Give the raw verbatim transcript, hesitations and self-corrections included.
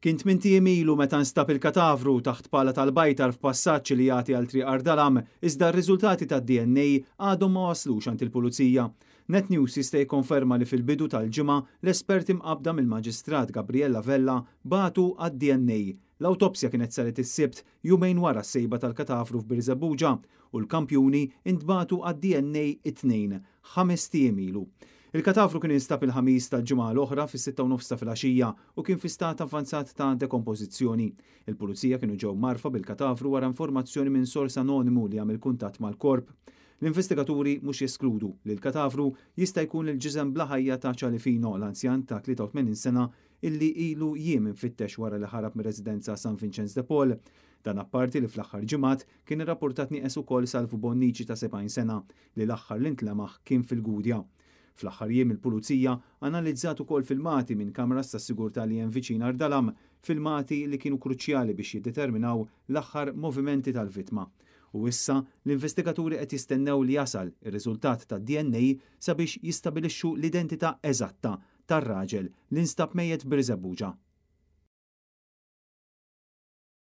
Kien tmint ijiem ilu meta nstab il-katavru taħt pala tal-bajtar f'passaġġ li jagħti għal Triq Għar Dalam, iżda r-riżultati tad-D N A għadhom ma waslux għand il-pulizija. Net News jista' jikkonferma li fil-bidu tal-ġimgħa l-esperti mqabda mill-Maġistrat Gabriella Vella bagħtu għad-D N A. L-awtopsja kienet saret is-Sibt, jumejn wara s-sejba tal-katavru f'Birżebbuġa, u l-kampjuni intbagħtu għad-D N A it-Tnejn, ħamest ijiem ilu. Il-katavru kien instab il-Ħamis tal-ġimgħa l-oħra fis-sitta u nofs ta' filgħaxija u kien fi stat avvanzat ta' dekompożizzjoni. Il-pulizija kienu ġew mgħarrfa bil-katavru wara informazzjoni minn sors anonimu li għamel kuntatt mal-korp. L-investigaturi mhux jeskludu li l-katavru jista' jkun il-ġisem bla ħajja ta' Ċalifino, l-anzjan ta' tlieta u tmenin sena illi ilu jiem infittex wara li ħarab mir-residenza San Vincenz de Paul. Dan apparti li fl-aħħar ġimgħat kien irrapportat nieqes ukoll Salvu Bonnici ta' sebgħin sena, li l-aħħar li ntlemaħ kien fil-Gudja. Fl-aħħar jiem il-pulizija analizzat ukoll filmati minn kameras ta' sigurtà li hemm viċin Għar Dalam, filmati li kienu kruċjali biex jiddeterminaw l-aħħar movimenti tal-vittma. U issa l-investigaturi qed jistennew li jasal ir-riżultat ta' D N A sabiex jistabilixxu l-identità eżatta tar-raġel li nstab mejjet Birżebbuġa.